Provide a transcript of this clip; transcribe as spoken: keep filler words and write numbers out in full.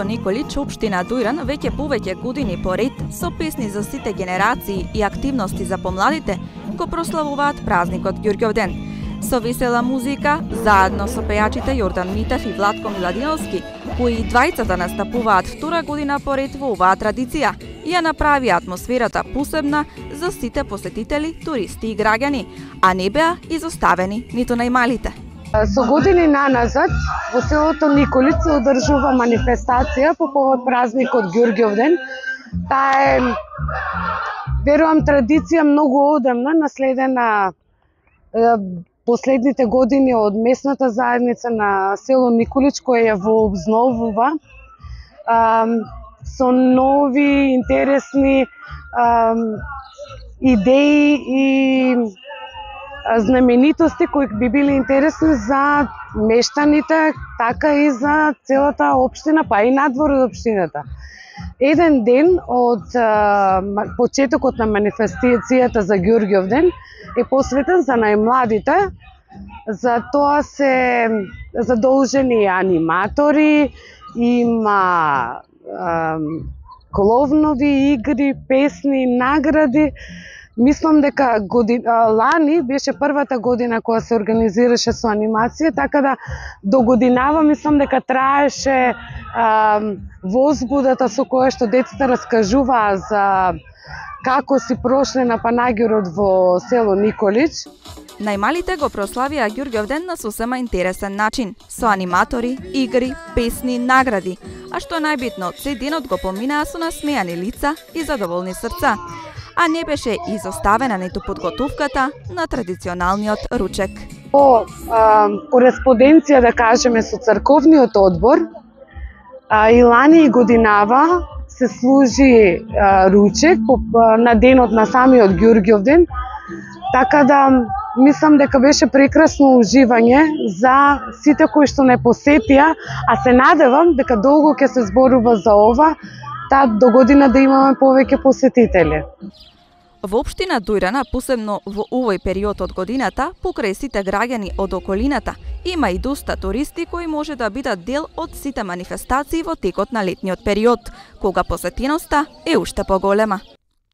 Николич, општина Дујран, веќе повеќе години поред со песни за сите генерации и активности за помладите го прославуваат празникот Ѓурѓовден. Со весела музика, заедно со пејачите Јордан Митев и Владко Миладиновски, кои и двајцата настапуваат втора година поред во оваа традиција, ја направи атмосферата посебна за сите посетители, туристи и граѓани, а не беа изоставени ниту најмалите. Со години наназад во селото Николич се одржува манифестација по повод празникот Ѓурѓовден. Таа е, верувам, традиција многу одамна, наследена последните години од местната заедница на село Николич, која ја вообновува со нови, интересни идеи и знаменитости кои би били интересни за мештаните, така и за целата општина, па и надвор од општината. Еден ден од а, почетокот на манифестацијата за Ѓурѓовден е посветен за најмладите. За тоа се задолжени аниматори, има а, коловнови игри, песни, награди. Мислам дека годин, лани беше првата година која се организираше со анимација, така да до годинава мислам дека траеше а, возбудата со која што децата раскажуваа за како си прошле на панагирот во село Николич. Најмалите го прославија Ѓурѓовден на сосема интересен начин, со аниматори, игри, песни, награди, а што е најбитно, цел денот го поминаа со насмејани лица и задоволни срца, а не беше изоставена ниту подготовката на традиционалниот ручек. По а, кореспонденција, да кажеме, со црковниот одбор, а, и лани и годинава се служи а, ручек по, а, на денот на самиот Ѓурѓовден, така да мислам дека беше прекрасно уживање за сите кои што не посетија, а се надевам дека долго ќе се зборува за ова, та до година да имаме повеќе посетители. Во општина Дујрана, посебно во овој период од годината, покрај сите граѓани од околината, има и доста туристи кои може да бидат дел од сите манифестации во текот на летниот период, кога посетеноста е уште поголема.